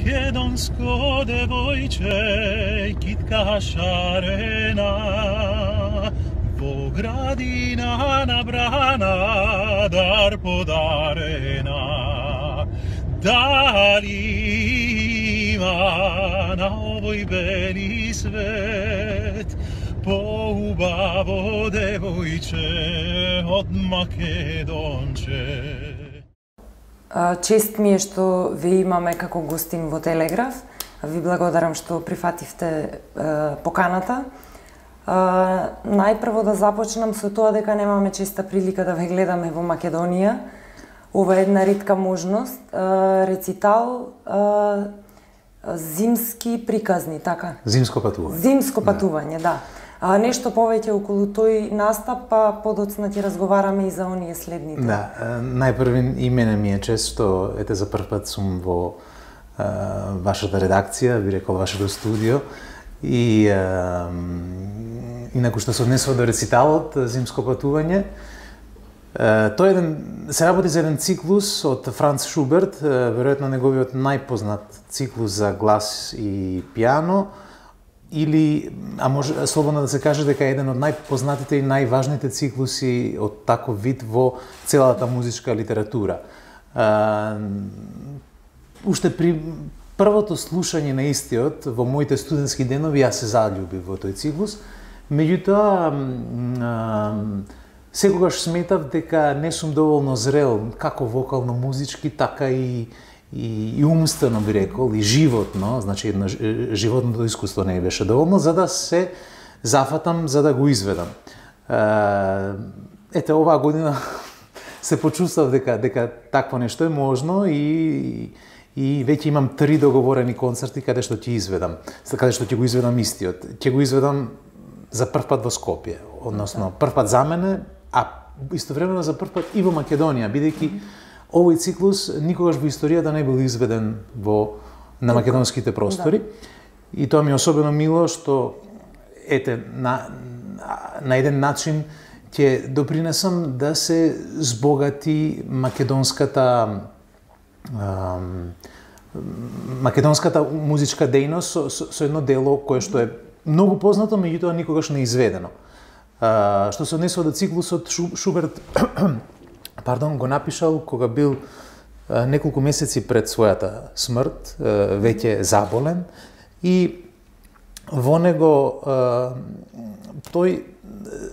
Македонско девојче, китка шарена, во градина набрана, дар подарена. Дали има на овој бели свет поубаво девојче од Македонче? Чест ми е што ве имаме како гостин во Телеграф. Ви благодарам што прифативте поканата. Најпрво да започнам со тоа дека немаме честа прилика да ве гледаме во Македонија. Ова е една ретка можност. Рецитал, зимски приказни, така? Зимско патување. Зимско патување, да. Нешто повеќе околу тој настап, па подоцна ќе разговараме и за оние следните. Да, најпрви и мене ми е чест што ете за прв пат сум во вашата редакција, би рекол вашето студио и инаку што се однесува до рециталот Зимско патување. Тој се работи за еден циклус од Франц Шуберт, веројатно неговиот најпознат циклус за глас и пијано, или, а може слободно да се каже дека е еден од најпознатите и најважните циклуси од таков вид во целата музичка литература. Уште при првото слушање на истиот, во моите студентски денови, јас се заљубив во тој циклус, меѓутоа, секогаш сметав дека не сум доволно зрел, како вокално-музички, така и умствено би рекол, и животно, значи едно животното искуство не беше доволно, за да се зафатам, за да го изведам. Ете, оваа година се почувствав дека такво нешто е можно и веќе имам 3 договорени концерти каде што ќе изведам, каде што ќе го изведам истиот. Ќе го изведам за прв пат во Скопје, односно прв пат за мене, а истовремено за прв пат и во Македонија, бидејќи овој циклус никогаш во историјата не бил изведен на македонските простори. И тоа ми е особено мило што ете на еден начин ќе допринесам да се збогати македонската музичка дејност со едно дело кое што е многу познато, меѓутоа никогаш не изведено. Што се однесува до циклусот, Шуберт го напишал кога бил неколку месеци пред својата смрт, веќе заболен, и во него тој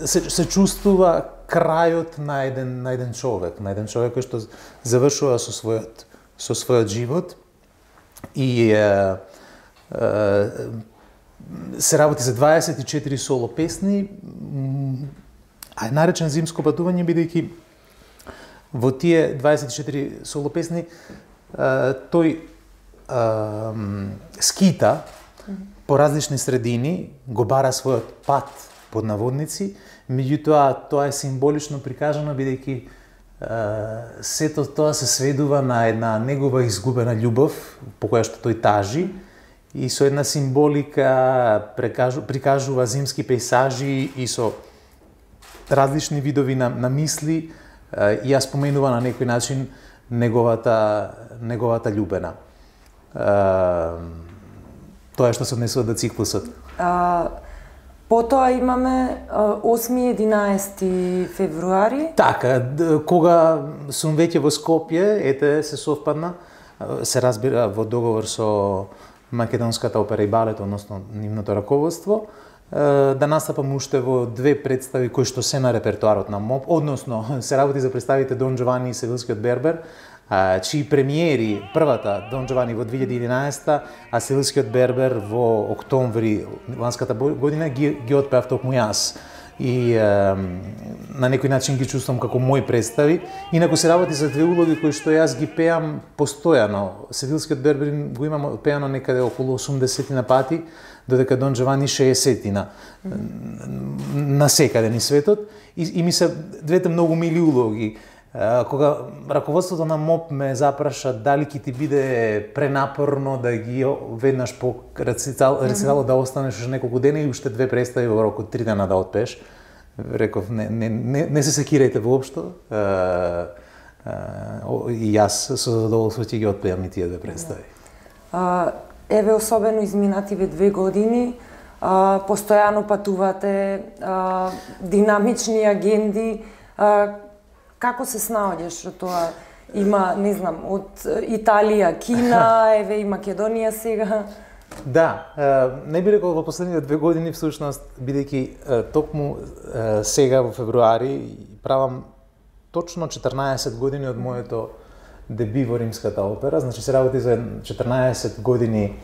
се чувствува крајот на еден човек кој што завршува со својот живот и се работи за 24 соло песни, а е наречен Зимско патување бидејќи во тие 24 соло песни тој скита по различни средини, го бара својот пат под наводници, меѓутоа тоа е символично прикажано бидејќи сето тоа се сведува на една негова изгубена љубов по која што тој тажи и со една символика прикажува зимски пејсажи и со различни видови на мисли и ја споменува на некој начин неговата љубена. Тоа е што се однесува до циклусот. Потоа имаме 8-11 февруари. Така, кога сум веќе во Скопје, ете се совпадна, се разбира во договор со Македонската опера и балет, односно нивното раководство, да настапам уште во 2 представи кои што се на репертоарот на МОП, односно се работи за представите Дон Джовани и Севилскиот Бербер, чии премиери, првата Дон Джовани во 2011, а Севилскиот Бербер во октомври ланската година ги отпеав токму јас. И на некој начин ги чувствам како мои представи. Инаку се работи за 2 улоги кои што јас ги пеам постојано. Севилскиот Бербер го имам пеано некаде околу 80 пати, додека Дон Джовани 60 на секаде низ светот. И ми се двете многу мили улоги. Кога раководството на МОП ме запраша дали ќе ти биде пренапорно да ги веднаш по рециталот да останеш уште неколку дена и уште 2 представи во рок од 3 дена да отпееш, реков не се секирајте воопшто. И јас со задоволство ќе ги отпеам и тие 2 представи. Еве особено изминативе 2 години, постојано патувате, динамични агенди, како се снаоѓаш од тоа? Има, не знам, од Италија, Кина, еве и Македонија сега. Да, не би рекол во последните 2 години всушност, бидејќи токму сега во февруари правам точно 14 години од моето деби во Римската опера, значи се работи за 14 години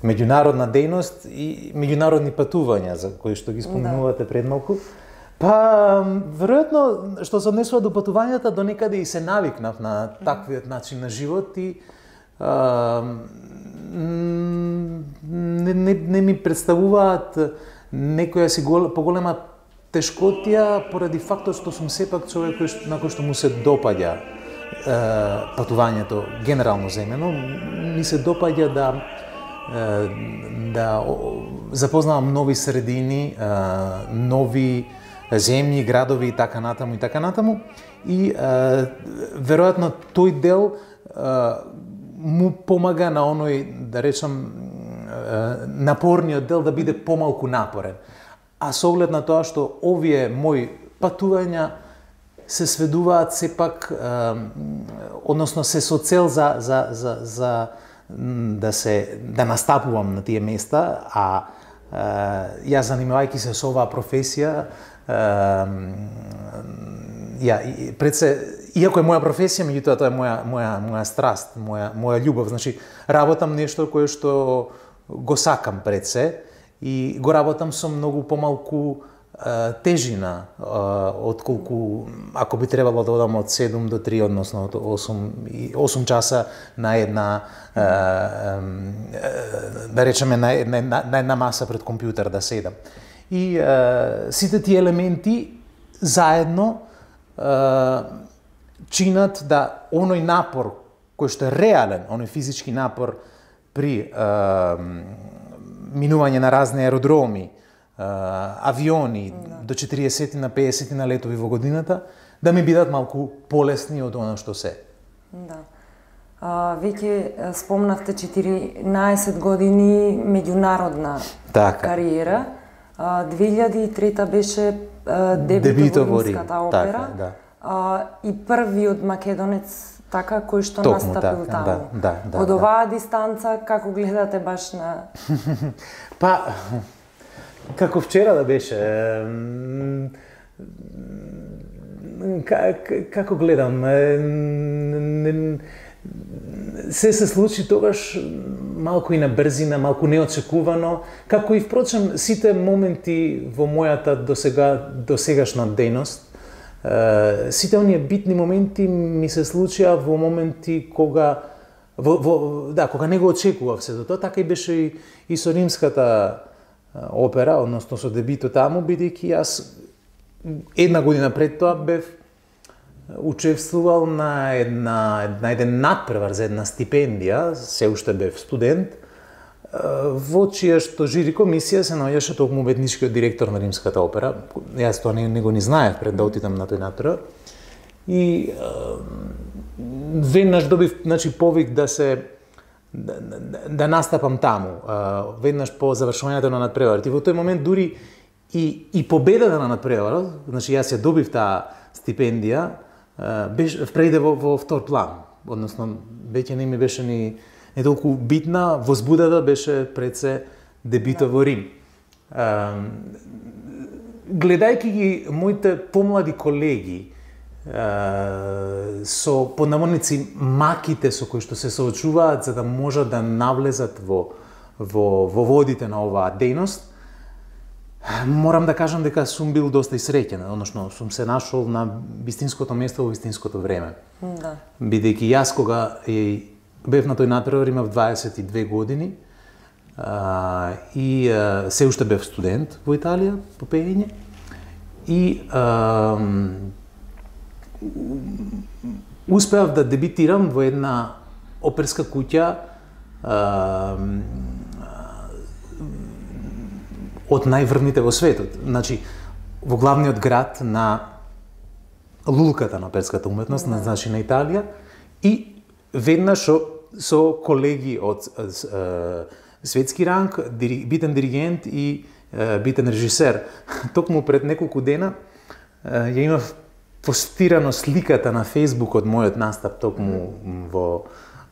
меѓународна дејност и меѓународни патувања за кои што ги спомнувате пред малку. Па, веројатно, што се однесува до патувањата, до некаде и се навикнав на таквиот начин на живот и не ми представуваат некоја си поголема тешкотија поради фактот што сум сепак човек на кој што му се допаѓа патувањето генерално земено. Ми се допаѓа да запознавам нови средини, нови земји, градови и така натаму. И веројатно тој дел му помага на оној, да речам, напорниот дел да биде помалку напорен. А со оглед на тоа што овие мои патувања се сведуваат сепак, односно се со цел за да настапувам на тие места, а јас занимавајќи се со оваа професија, иако е моја професија, меѓутоа тоа е моја страст, моја љубов. Значи, работам нешто кое што го сакам пред се и го работам со многу помалку тежина отколку ако би требало да одам од 7 до 3, односно од 8 часа на една да речеме на една маса пред компјутер да седам. И сите тие елементи заедно чинат да оној напор кој што е реален, оној физички напор при минување на разни аеродроми, авиони, до 40 на 50 на летови во годината, да ми бидат малку полесни од она што се. Да. Веќе спомнавте 14 години меѓународна кариера. 2003 беше дебютот во Римската опера. И првиот македонец кој што настапил таму. Од оваа дистанца, како гледате баш на... Па, како вчера да беше, како гледам, се случи тогаш малку и на брзина, малку неочекувано, како и впрочем сите моменти во мојата досегашна дејност. Сите оние битни моменти ми се случија во моменти кога не го очекував се до тоа, така и беше и со Римската опера, односно со дебитот таму, бидејќи јас една година пред тоа бев учествувал на еден надпревар за една стипендија, се уште бев студент, во чија што жири комисија се наоѓаше токму уметничкиот директор на Римската опера. Јас тоа не го знаев пред да отидам на тој надпревар. И веднаш добив, повик да настапам таму, веднаш по завршувањето на надпреварот. И во тој момент дури и победата на надпреварот, значи јас ја добив таа стипендија, прејде во втор план. Односно, веќе не ми беше ни толку битна, возбудата беше пред се дебитот во Рим. Гледајќи ги моите помлади колеги, со поднаморници маките со кои што се соочуваат за да можат да навлезат во водите на оваа дејност, морам да кажам дека сум бил доста среќен, односно сум се нашол на вистинското место во вистинското време. Да. Бидејќи јас кога бев на тој надпревар имав 22 години и се уште бев студент во Италија по пеење и успеав да дебитирам во една оперска куќа од најврвните во светот. Значи, во главниот град на лулката на оперската уметност, значи на Италија, и веднаш со колеги од светски ранг, битен диригент и битен режисер. Токму пред неколку дена ја имав постирано сликата на Facebook од мојот настап токму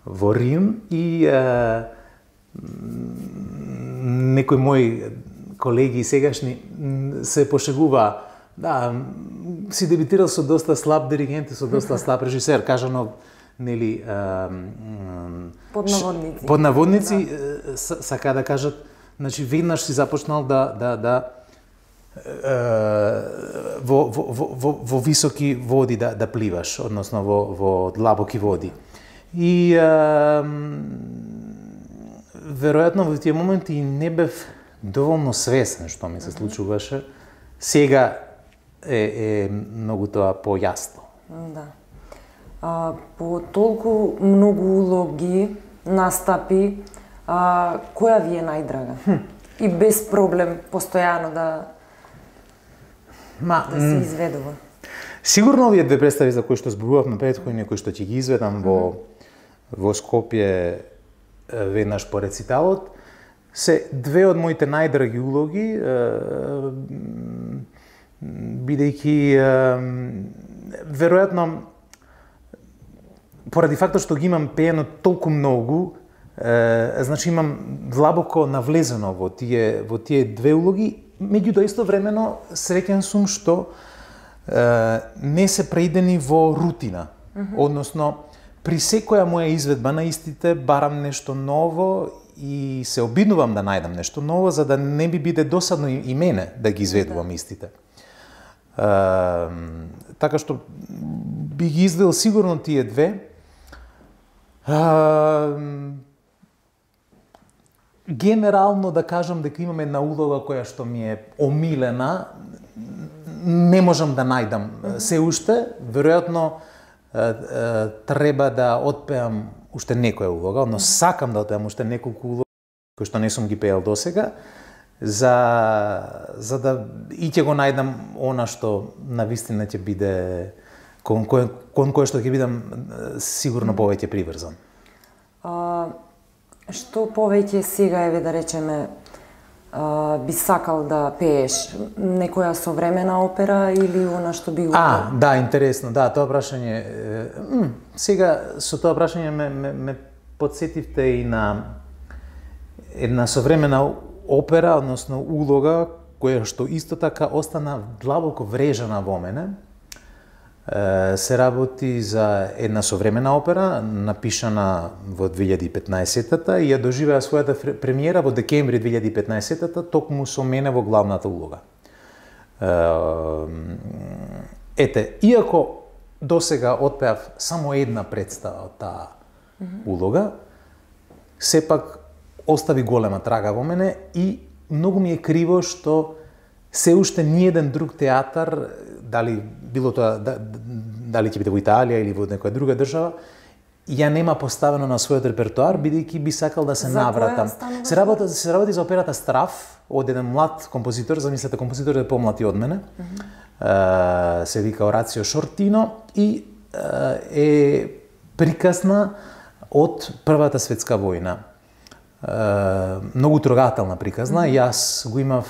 во Рим и некои мои колеги сегашни се пошегува, да, си дебитирал со доста слаб диригент и со доста слаб режисер, кажано, нели, под наводници, да. Сака да кажат, значи веднаш си започнал во високи води да пливаш, односно во длабоки води. И веројатно во тие моменти не бев доволно свесен што ми се случуваше. Сега е многу тоа појасно. Да. По толку многу улоги, настапи, која ви е најдрага? И без проблем постојано да се изведува? Сигурно овие две представи за кои што зборувавме претходно, кои што ќе ги изведам во Скопје веднаш по рециталот, се две од моите најдраги улоги, бидејќи веројатно поради фактот што ги имам пеено толку многу, значи имам длабоко навлезено во тие две улоги, меѓутоа истовремено среќен сум што не се преидени во рутина. Односно, при секоја моја изведба на истите барам нешто ново и се обиднувам да најдам нешто ново, за да не би биде досадно и мене да ги изведувам истите. Така што би ги извел сигурно тие две. Генерално да кажам дека имам една улога која што ми е омилена, не можам да најдам се уште, веројатно треба да отпеам уште некоја улога, но сакам да отпеам уште неколку улоги кои што не сум ги пеел досега, за да и ќе го најдам она што навистина ќе биде кон кое што ќе бидам сигурно повеќе приврзан. Што повеќе сега, еве да речеме, би сакал да пееш? Некоја современа опера или она што би... Да, интересно, да, тоа прашање... Сега, со тоа прашање ме подсетивте и на една современа опера, односно улога, која што исто така остана длабоко врежана во мене. Се работи за една современа опера, напишана во 2015-та и ја доживеа својата премиера во декември 2015-та, токму со мене во главната улога. Ете, иако досега отпеав само една представа од таа улога, сепак остави голема трага во мене и многу ми е криво што се уште ниеден друг театар, дали било тоа дали ќе биде во Италија или во некоја друга држава, ја нема поставено на својот репертоар, бидејќи би сакал да се навратам. Се работи за операта Страф од еден млад композитор, замислете, композитор е помлад и од мене. Се вика Орацио Шортино и е приказна од Првата светска војна. Многу трогателна приказна. Јас го имав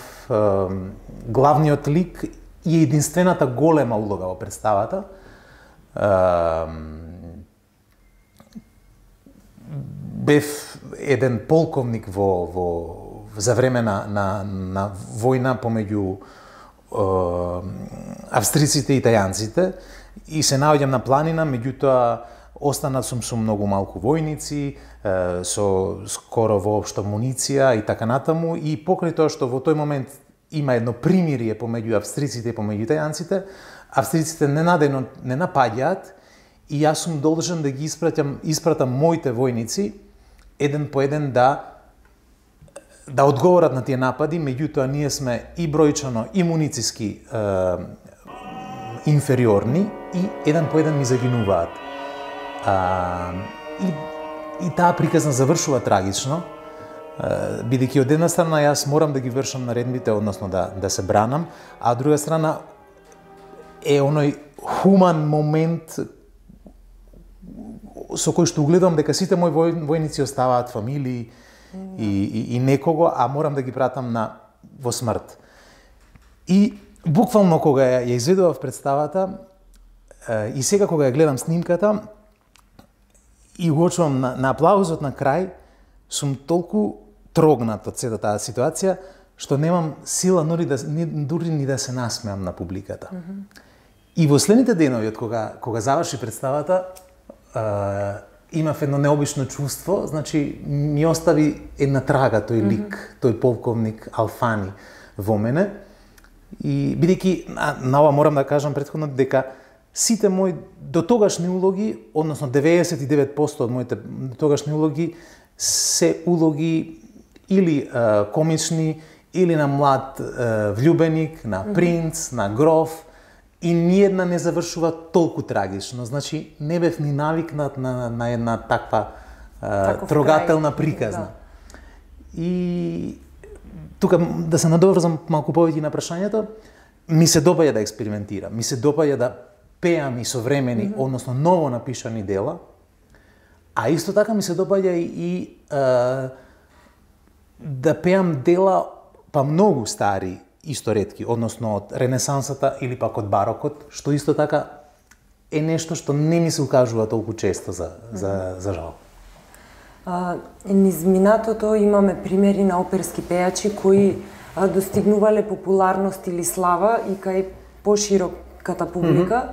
главниот лик и единствената голема улога во представата. Бев еден полковник за време на војна помеѓу австриците и италијанците и се наоѓам на планина, меѓутоа останат сум со многу малку војници, со скоро воопшто муниција и така натаму, и покрај тоа што во тој момент има едно примирие помеѓу австриците и помеѓу италијанците, австриците ненадејно не напаѓаат и јас сум должен да ги испратам моите војници еден по еден да одговорат на тие напади, меѓутоа ние сме и бројчано и мунициски инфериорни и еден по еден ми загинуваат. И таа приказна завршува трагично, бидејќи од една страна јас морам да ги вршам наредбите, односно да се бранам, а од друга страна е оној хуман момент со кој што угледам дека сите мои војници оставаат фамилии и некого, а морам да ги пратам во смрт. И буквално кога ја изведував представата и сега кога ја гледам снимката и уочувам на аплаузот на крај, сум толку трогнат од сета таа ситуација што немам сила дури ни да се насмеам на публиката. И во следните денови од кога заврши представата, имав едно необично чувство, значи ми остави една трага тој лик, тој полковник Алфани во мене. И бидејќи на ова морам да кажам претходно дека сите мои дотогашни улоги, односно 99% од моите дотогашни улоги се улоги или комични, или на млад влюбеник, на принц, на гроф, и ниедна не завршува толку трагично. Значи, не бев ни навикнат на една таква трогателна приказна. Да. И тука да се надоврзам малку повеќе на прашањето, ми се допаѓа да експериментирам, ми се допаѓа да пеам и современи, односно ново напишани дела, а исто така ми се допаѓа и да пеам дела па многу стари исторетки, односно од Ренесансата или пак од барокот, што исто така е нешто што не ми се укажува толку често за жал. Низ минатото имаме примери на оперски пејачи кои достигнувале популарност или слава и кај пошироката публика.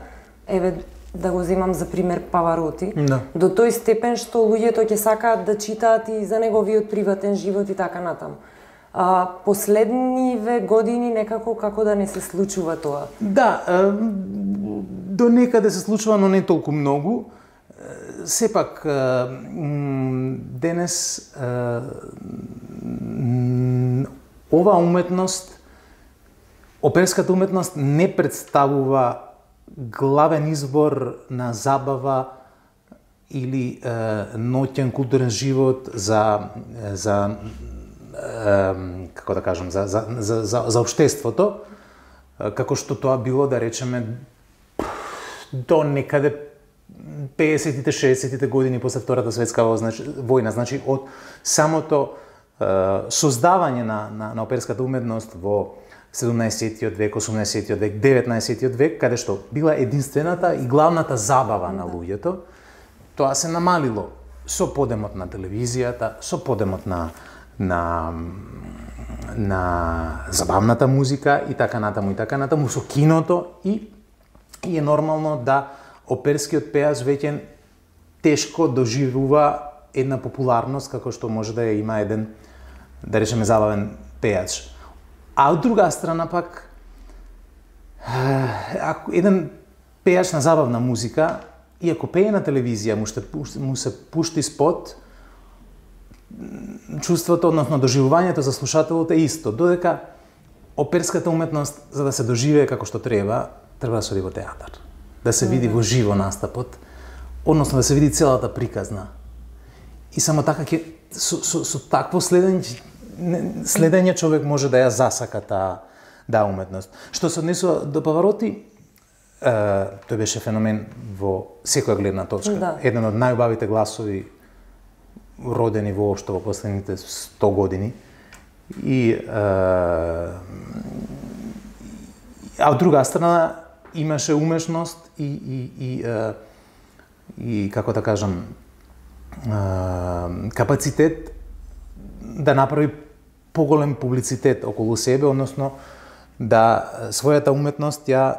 Еве, да го земам за пример Павароти. Да. До тој степен што луѓето ќе сакаат да читаат и за неговиот приватен живот и така натаму. Последниве години некако како да не се случува тоа? Да, до некаде се случува, но не толку многу. Сепак, денес оваа уметност, оперската уметност не представува главен избор на забава или ноќен културен живот за како да кажам, за општеството, како што тоа било, да речеме, до некаде 50-тите, 60-тите години после Втората светска војна, значи од самото создавање на оперската уметност во 17-тиот век, 18-тиот век, 19-тиот век, каде што била единствената и главната забава на луѓето, тоа се намалило со подемот на телевизијата, со подемот на забавната музика и така натаму, со киното и е нормално да оперскиот пеач веќе тешко доживува една популарност како што може да ја има еден, да речеме, забавен пеач. А од друга страна пак, ако еден пеач на забавна музика, и ако пее на телевизија, му се пушти спот, чувството, односно доживувањето за слушателот е исто, додека оперската уметност, за да се доживее како што треба да се оди во театар, да се види во живо настапот, односно да се види целата приказна. И само така со такво следење човек може да ја засака таа уметност. Што се однесува до Павароти, тој беше феномен во секоја гледна точка. Да. Еден од најубавите гласови родени воопшто во последните 100 години. А од друга страна имаше умешност и како да кажам, капацитет да направи поголем публицитет околу себе, односно да својата уметност ја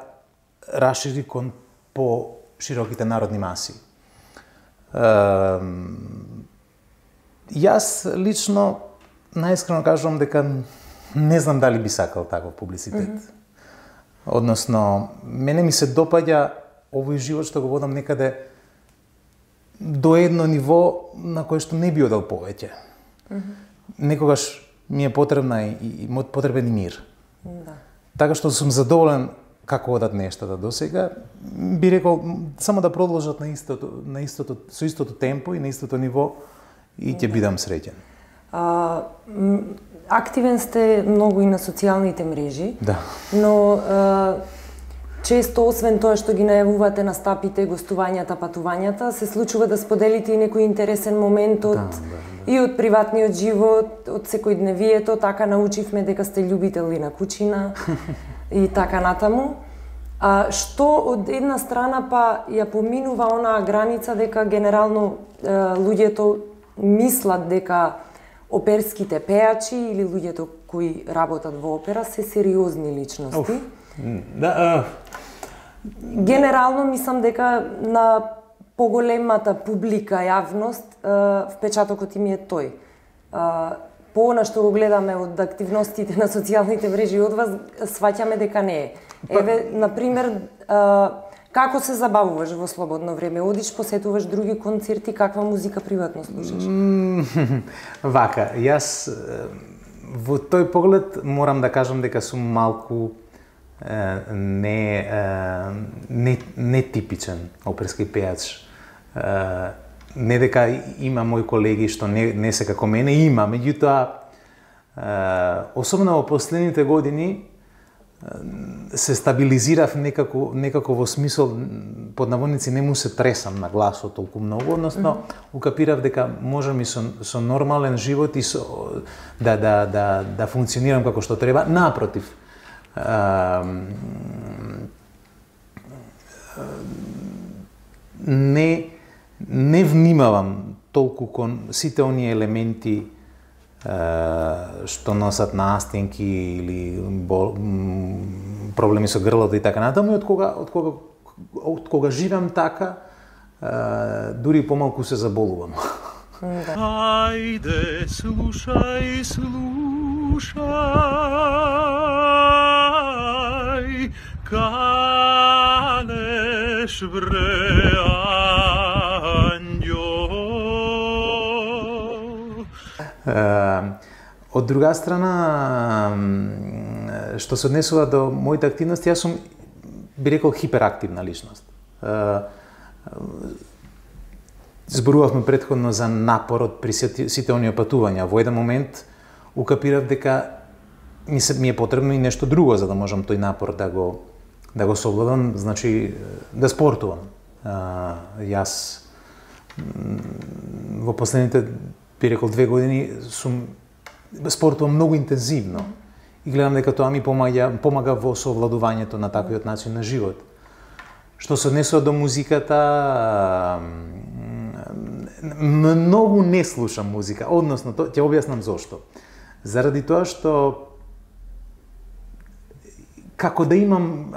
расшири кон по-широките народни маси. Јас лично најискрено кажувам дека не знам дали би сакал таков публицитет. Односно, мене ми се допаѓа овој живот што го водам некаде до едно ниво на кое што не би одел повеќе. Некогаш ми е потребен и мир. Да. Така што сум задоволен како одат нештата до сега, би рекол само да продолжат со истото темпо и на истото ниво и ќе бидам среќен. Активен сте многу и на социјалните мрежи, да. Но често, освен тоа што ги најавувате настапите, гостувањата, патувањата, се случува да споделите и некој интересен момент и од приватниот живот, од секојдневието, така научивме дека сте љубители на кучина и така натаму. А што од една страна па ја поминува онаа граница дека генерално луѓето мислат дека оперските пеачи или луѓето кои работат во опера се сериозни личности. Генерално мислам дека на поголемата публика, јавност, впечатокот им е тој. По она што го гледаме од активностите на социјалните мрежи од вас, сваќаме дека не е. Еве, например, како се забавуваш во слободно време? Одиш, посетуваш други концерти, каква музика приватно слушаш? Вака, јас во тој поглед морам да кажам дека сум малку нетипичен оперски пејач. Не дека има мои колеги што не се како мене, има, меѓутоа, особено во последните години, се стабилизирав некако во смисол, под наводници, не му се тресам на гласот толку многу, односно, укапирав дека можам и со нормален живот и да функционирам како што треба. Напротив, не внимавам толку кон сите оние елементи што носат настинки или проблеми со грлото и така натаму, и од кога живеам така, дури помалку се заболувам. Ајде, слушај, канеш вре Од друга страна, што се однесува до моите активности, јас сум, би рекол, хиперактивна личност. Зборувавме претходно за напорот при сите оние патувања. Во еден момент укапирав дека ми е потребно и нешто друго за да можам тој напор да го совладам, значи да спортувам. Јас во последните, би рекол, 2 години спортувам многу интензивно и гледам дека тоа ми помага во совладувањето на таквиот начин на живот. Што се однесува до музиката, многу не слушам музика, односно, ќе објаснам зошто. Заради тоа што како да имам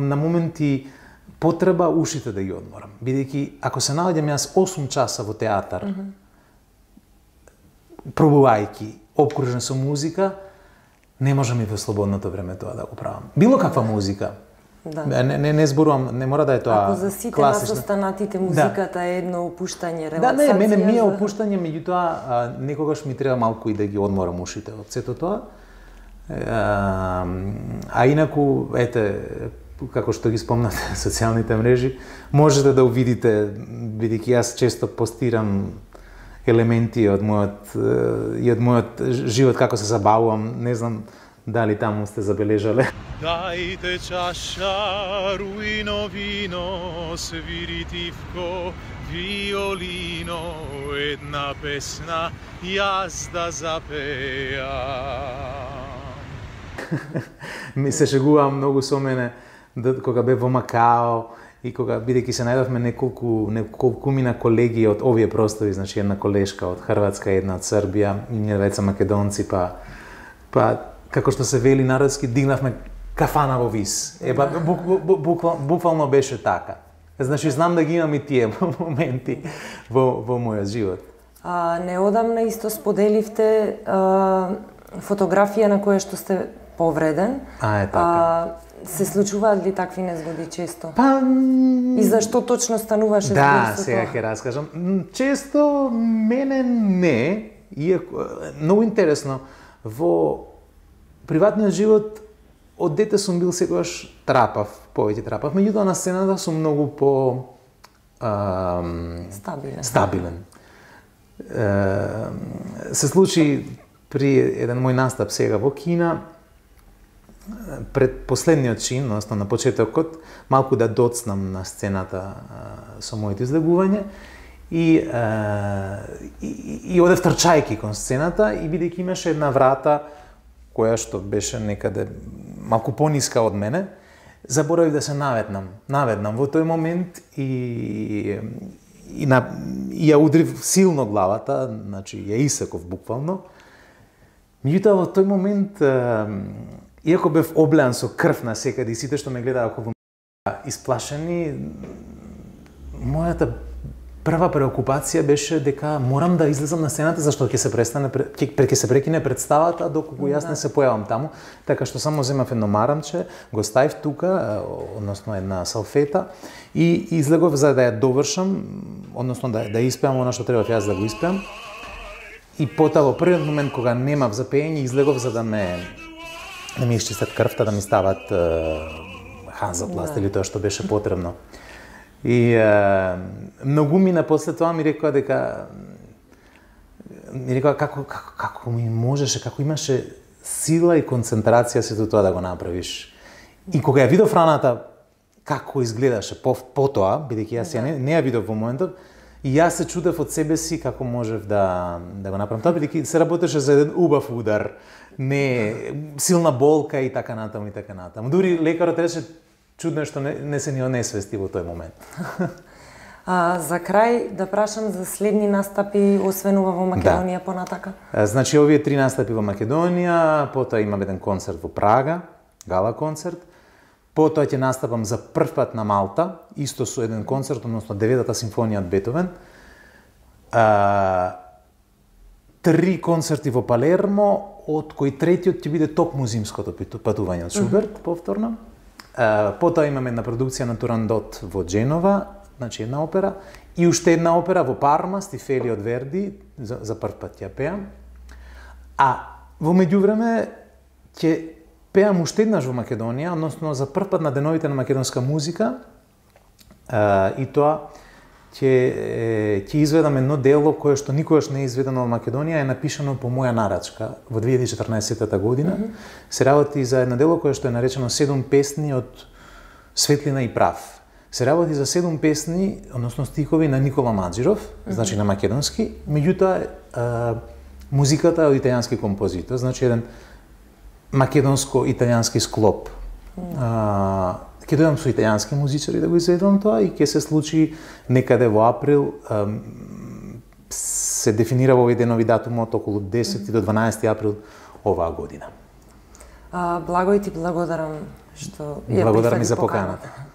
на моменти потреба ушите да ги одморам, бидејќи ако се наоѓам јас 8 часа во театар, пробувајќи обкружен со музика, не можам и во слободното време тоа да го правам. Било каква музика. Да. Не зборувам, не мора да е тоа класична. Ако за сите нас останатите музиката е едно опуштање, релаксација. Да, мене ми е опуштање, меѓутоа некогаш ми треба малку и да ги одморам ушите од сето тоа. А инаку, како што ги спомнате социјалните мрежи, можете да увидите, бидејќи јас често постирам елементи од мојот живот, како се забавувам, не знам дали таму сте забележале. Дайте чаша, руино вино, свиритивко, виолино, една песна, јас да запеам. Ми се шегувам многу со мене кога бев во Макао и кога, бидејќи се најдовме неколкумина колеги од овие простори, значи една колешка од Хрватска, една од Србија и ние двајца македонци, па како што се вели народски, дигнавме кафана во Вис. Буквално беше така. Значи, знам да ги имам и тие моменти во мојот живот. Неодамна исто споделивте фотографија на која што сте повреден. Така. Се случуваат ли такви незгоди често? И зашто точно стануваше збор со тоа? Да, сега ќе раскажам. Често мене не, иако многу интересно, во приватниот живот од дете сум бил секогаш повеќе трапав, меѓутоа на сцената сум многу стабилен. Се случи при еден мој настап сега во Кина, пред последниот чин, односно на почетокот, малку да доцнам на сцената со моето излегување и одев трчајки кон сцената и бидејќи имаше една врата која што беше некаде малку пониска од мене, заборавив да се наведнам во тој момент и ја удрив силно главата, значи ја исеков буквално. Меѓутоа во тој момент, иако бев облеан со крв на секаде и сите што ме гледаа околу исплашени, мојата прва преокупација беше дека морам да излезам на сцената зашто ќе се прекине представата доколку јас не се појавам таму, така што само земав едно марамче, го ставив тука, односно една салфета и излегов за да ја довршам, односно да испеам она што требав јас да го испеам. И потоа во првиот момент кога немав за пеење излегов за да ми исчистат крвта, да ми стават ханзапласт или тоа што беше потребно. И многу мина после тоа ми рекоа како ми можеше, како имаше сила и концентрација сето тоа да го направиш. И кога ја видов раната како изгледаше потоа, бидејќи јас не ја видов во моментот, и јас се чудев од себе си како можев да го направам тоа, бидејќи се работеше за еден убав удар, не силна болка и така натаму и така натаму. Дури лекарот рече чудно што не се ни онесвести во тој момент. За крај да прашам за следни настапи, освен ова во Македонија понатака? Значи овие 3 настапи во Македонија, потоа имам еден концерт во Прага, гала концерт. Потоа ќе настапам за прв пат на Малта, исто со еден концерт, односно 9-та симфонија од Бетовен. 3 концерти во Палермо, од кои третиот ќе биде топ музимското патување од Шуберт, повторно. Потоа имам една продукција на Турандот во Дженова, значи една опера, и уште една опера во Парма, Стифели од Верди, за прв пат ја пеам. А во меѓувреме ќе пеам уште еднаш во Македонија, односно за прв пат на деновите на македонска музика, и тоа ќе изведам едно дело кое што никогаш не е изведено во Македонија, е напишано по моја нарачка во 2014 година. Се работи за едно дело кое што е наречено 7 песни од светлина и прав. Се работи за 7 песни, односно стихови на Никола Маџиров, значи на македонски, меѓутоа музиката е од италијански композитор, значи еден македонско-италијански склоп. Ќе дојдам со италијански музичари да го изведам тоа и ќе се случи некаде во април. Се дефинира во овој денови датумот околу 10 до 12 април оваа година. Благо и ти благодарам што ја благодарам и прифати за поканата. поканата.